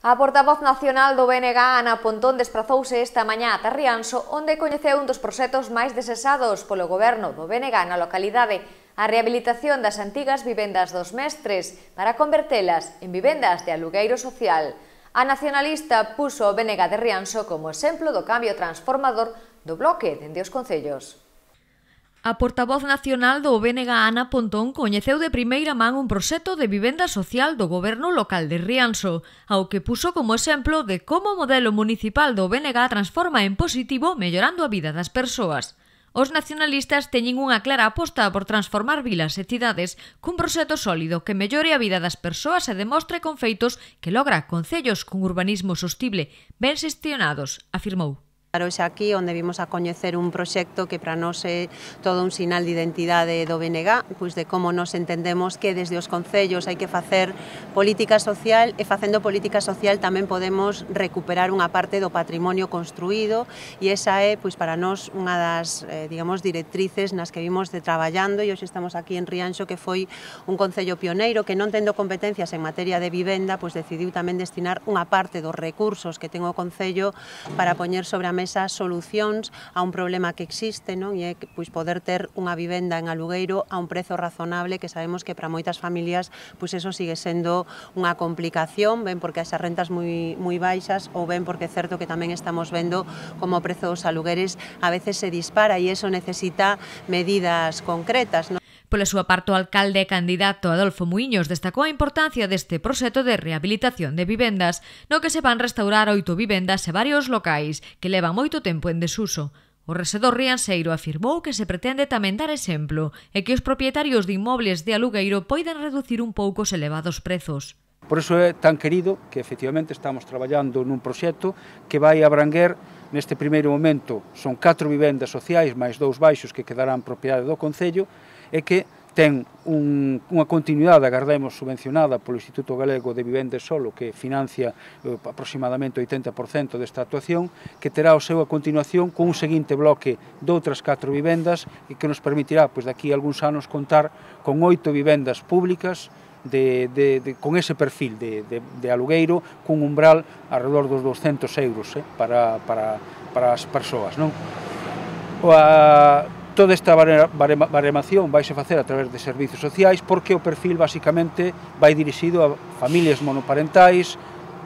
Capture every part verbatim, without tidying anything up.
A portavoz nacional do B N G, Ana Pontón, desprazouse esta mañá ata Rianxo, onde coñeceu un dos proxectos máis desesados polo goberno do B N G na localidade, a rehabilitación das antigas vivendas dos mestres para convertelas en vivendas de alugueiro social. A nacionalista puso o B N G de Rianxo como exemplo do cambio transformador do bloque dende os concellos. A portavoz nacional do B N G, Ana Pontón, coñeceu de primeira man un proxecto de vivenda social do goberno local de Rianxo, ao que puso como exemplo de como o modelo municipal do B N G transforma en positivo mellorando a vida das persoas. Os nacionalistas teñen unha clara aposta por transformar vilas e cidades cun proxecto sólido que mellore a vida das persoas e demostre con feitos que logra concellos con urbanismo sostible ben xestionados, afirmou. Hoxe aquí onde vimos a coñecer un proxecto que para nós é todo un sinal de identidade do B N G, pois de como nos entendemos que desde os concellos hai que facer política social e facendo política social tamén podemos recuperar unha parte do patrimonio construído e esa é pois para nós unha das eh, digamos directrices nas que vimos de traballando e hoxe estamos aquí en Rianxo, que foi un concello pioneiro que non tendo competencias en materia de vivenda, pois decidiu tamén destinar unha parte dos recursos que ten o concello para poñer sobre a mesa solucións a un problema que existe, non? E é pois, poder ter unha vivenda en alugueiro a un prezo razonable, que sabemos que para moitas familias pois eso sigue sendo unha complicación, ben porque as rentas moi, moi baixas ou ben porque é certo que tamén estamos vendo como o prezo dos alugueres a veces se dispara e eso necesita medidas concretas, non? Pola súa parte, o alcalde e candidato Adolfo Muiños destacou a importancia deste proxecto de rehabilitación de vivendas, no que se van restaurar oito vivendas e varios locais que levan moito tempo en desuso. O resedor rianxeiro afirmou que se pretende tamén dar exemplo e que os propietarios de inmobles de alugueiro poidan reducir un pouco os elevados prezos. Por iso é tan querido que efectivamente estamos traballando nun proxecto que vai abranguer neste primeiro momento son catro vivendas sociais máis dous baixos que quedarán propiedade do Concello e que ten un, unha continuidade, agardemos, subvencionada polo Instituto Galego de Vivenda e Solo, que financia eh, aproximadamente o oitenta por cento desta actuación, que terá o seu a continuación con un seguinte bloque de outras catro vivendas e que nos permitirá, pois, daqui a algúns anos, contar con oito vivendas públicas De, de, de, con ese perfil de, de, de alugueiro, cun umbral alrededor dos douscentos euros eh, para, para, para as persoas, non? O, a, toda esta baremación vai se facer a través de servizos sociais porque o perfil basicamente vai dirixido a familias monoparentais,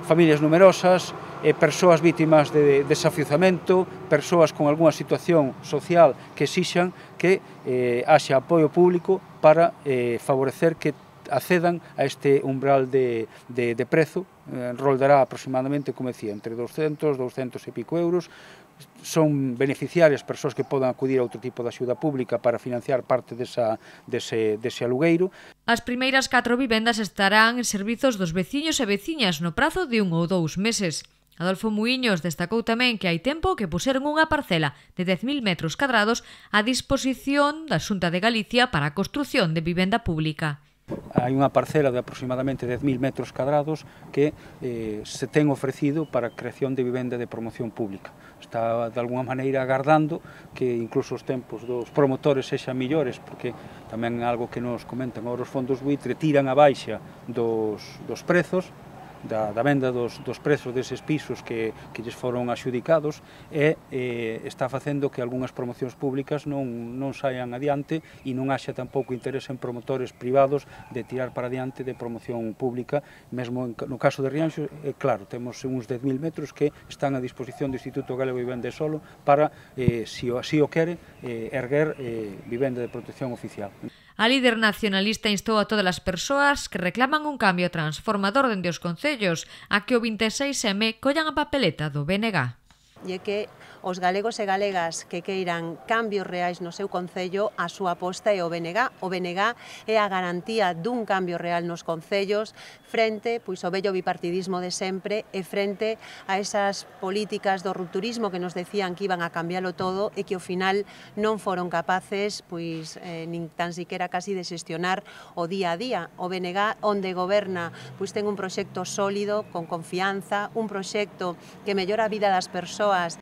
familias numerosas, e persoas vítimas de desafiuzamento, persoas con algunha situación social que exixan que eh, haxa apoio público para eh, favorecer que accedan a este umbral de, de, de prezo, eh, roldará aproximadamente, como decía, entre douscentos, douscentos e pico euros. Son beneficiarias persoas que podan acudir a outro tipo de axuda pública para financiar parte desa, dese, dese alugueiro. As primeiras catro vivendas estarán en servizos dos veciños e veciñas no prazo de un ou dous meses. Adolfo Muiños destacou tamén que hai tempo que puseron unha parcela de dez mil metros cadrados a disposición da Xunta de Galicia para a construción de vivenda pública. Hai unha parcela de aproximadamente dez mil metros cadrados que eh, se ten ofrecido para a creación de vivenda de promoción pública. Está, de alguna maneira, agardando que incluso os tempos dos promotores sexan millores, porque tamén é algo que nos comentan agora os fondos buitre, tiran a baixa dos, dos prezos, Da, da venda dos, dos prezos deses pisos que, que lles foron axudicados e eh, está facendo que algunhas promocións públicas non, non saian adiante e non haxa tampouco interés en promotores privados de tirar para adiante de promoción pública. Mesmo en, no caso de Rianxo, eh, claro, temos uns dez mil metros que están a disposición do Instituto Galego de Vivenda e Solo para, eh, se o, así o quere, eh, erguer eh, vivenda de protección oficial. A líder nacionalista instou a todas as persoas que reclaman un cambio transformador dende os concellos a que o vinte e seis eme collan a papeleta do B N G. E que os galegos e galegas que queiran cambios reais no seu concello, a súa aposta é o B N G. O B N G é a garantía dun cambio real nos concellos frente pois, ao vello bipartidismo de sempre e frente a esas políticas do rupturismo que nos decían que iban a cambiarlo todo e que ao final non foron capaces pois, eh, nin tan siquiera casi de xestionar o día a día. O B N G, onde goberna, pois ten un proxecto sólido, con confianza, un proxecto que mellora a vida das persoas